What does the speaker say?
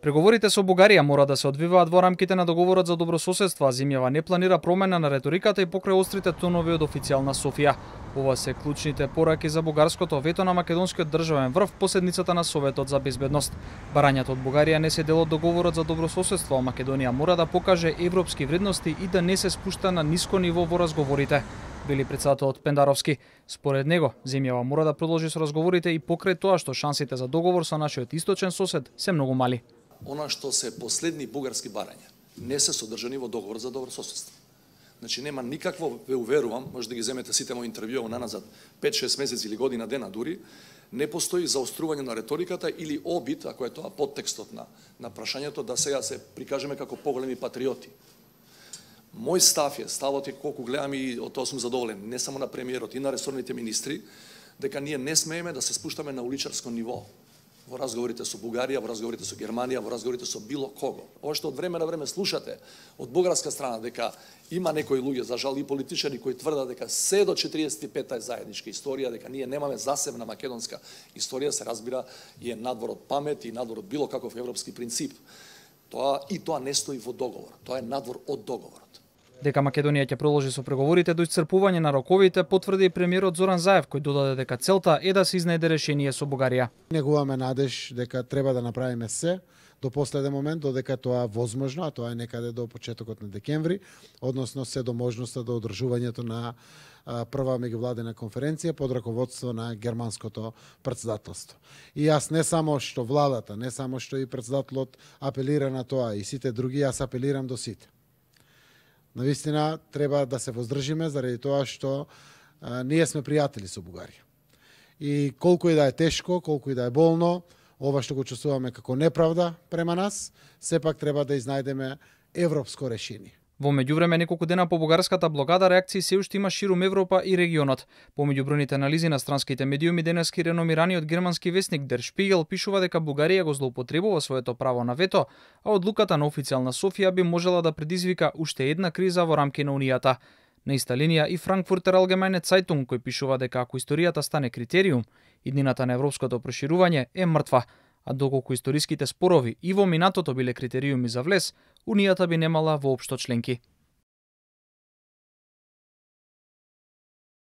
Преговорите со Бугарија мора да се одвиваат во рамките на договорот за добрососедство, а земјава не планира промена на реториката и покрај острите тонови од официјална Софија. Ова се клучните пораки за бугарското вето на македонскиот државен врв по седницата на Советот за безбедност. Барањата од Бугарија не се дел од договорот за добрососедство, а Македонија мора да покаже европски вредности и да не се спушта на ниско ниво во разговорите, вели претседателот Пендаровски. Според него, земјава мора да продолжи со разговорите и покрај тоа што шансите за договор со нашиот источен сосед се многу мали. Она што се последни бугарски барања не се содржани во договор за добрососедство. Значи нема никакво, ве уверувам, може да ги земете сите мои интервјуа наназад 5-6 месеци или година дена дури, не постои заострување на реториката или обид, ако е тоа подтекстот на прашањето, да сега се прикажеме како поголеми патриоти. Мој став е, ставот е колку гледам и од тоа сум задоволен, не само на премиерот и на ресорните министри, дека ние не смееме да се спуштаме на уличарско ниво во разговорите со Бугарија, во разговорите со Германија, во разговорите со било кого. Ова што од време на време слушате од бугарска страна дека има некои луѓе, за жал и политичари, кои тврдат дека се до 45-та е заедничка историја, дека ние немаме засебна македонска историја, се разбира и е надвор од памет и надвор од било каков европски принцип. Тоа не стои во договор, тоа е надвор од договорот. Дека Македонија ќе продолжи со преговорите до исцрпување на роковите, потврди и премиерот Зоран Заев, кој додаде дека целта е да се изнајде решение со Бугарија. Негуваме надеж дека треба да направиме се до последен момент, додека тоа возможно, а тоа е некаде до почетокот на декември, односно се до можноста до одржувањето на прва меѓувладена конференција под раководство на германското претседателство. И јас не само што владата, не само што и претседателот апелира на тоа, и сите други, јас апелирам до сите. Навистина треба да се воздржиме заради тоа што ние сме пријатели со Бугарија. И колку и да е тешко, колку и да е болно, ова што го чувствуваме како неправда према нас, сепак треба да изнајдеме европско решение. Во меѓувреме, неколку дена по бугарската блокада, реакции се уште има ширум Европа и регионот. Помеѓу бројните анализи на странските медиуми, денески реномираниот германски весник Der Spiegel пишува дека Бугарија го злоупотребува своето право на вето, а одлуката на официјална Софија би можела да предизвика уште една криза во рамки на Унијата. На иста линија и Frankfurter Allgemeine Zeitung, кој пишува дека ако историјата стане критериум, иднината на европското проширување е мртва, а доколку историските спорови и во минатото биле критериуми за влез, Унијата би немала воопшто членки.